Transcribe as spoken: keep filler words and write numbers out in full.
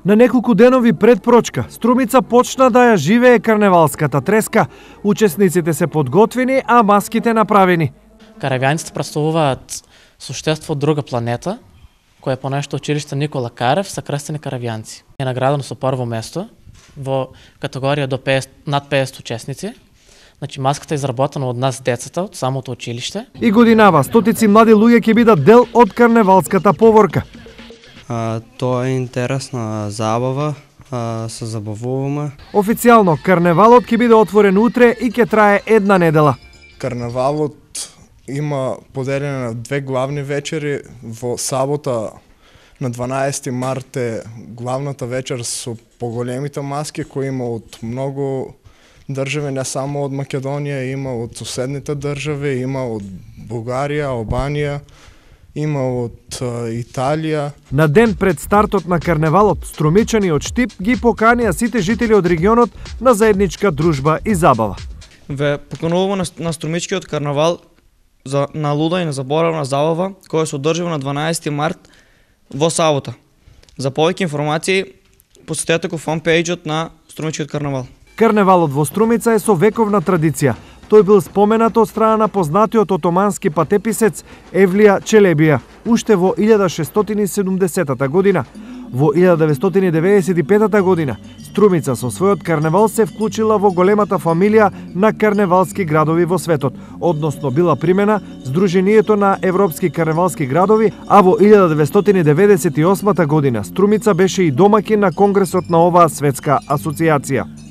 На неколку денови пред Прочка, Струмица почна да ја живее карневалската треска. Учесниците се подготвени, а маските направени. Каравјаниците представуваат суштество од друга планета, кој е по нешто училиште Никола Карев са крстени каравјанци. Е наградено со прво место во категорија до петдесет, над петдесет учесници. Значи маската е изработена од нас децата, од самото училиште. И годинава стотици млади луѓе ќе бидат дел од карневалската поворка. А, тоа е интересна забава, а, се забавуваме. Официјално карневалот ќе биде отворен утре и ќе трае една недела. Карневалот има поделено на две главни вечери. Во сабота на дванаесети март е главната вечер со поголемите маски кои има од многу држави, не само од Македонија, има од соседните држави, има од Бугарија, Албанија, има од Италија. На ден пред стартот на карневалот, струмичани од Штип ги поканија сите жители од регионот на заедничка дружба и забава. Ве покануваме на, на струмичкиот карнавал за на луда и незаборавна забава, која се одржува на дванаесети март во сабота. За повеќе информации посетете го фанпејџот на струмичкиот карнавал. Карневалот во Струмица е со вековна традиција. Тој бил споменат од страна на познатиот отомански патеписец Евлија Челебија уште во илјада шестстотини и седумдесетата година. Во илјада деветстотини деветдесет и петата година Струмица со својот карневал се вклучила во големата фамилија на карневалски градови во светот, односно била примена Сдруженијето на европски карневалски градови, а во илјада деветстотини деветдесет и осмата година Струмица беше и домаќин на конгресот на оваа светска асоцијација.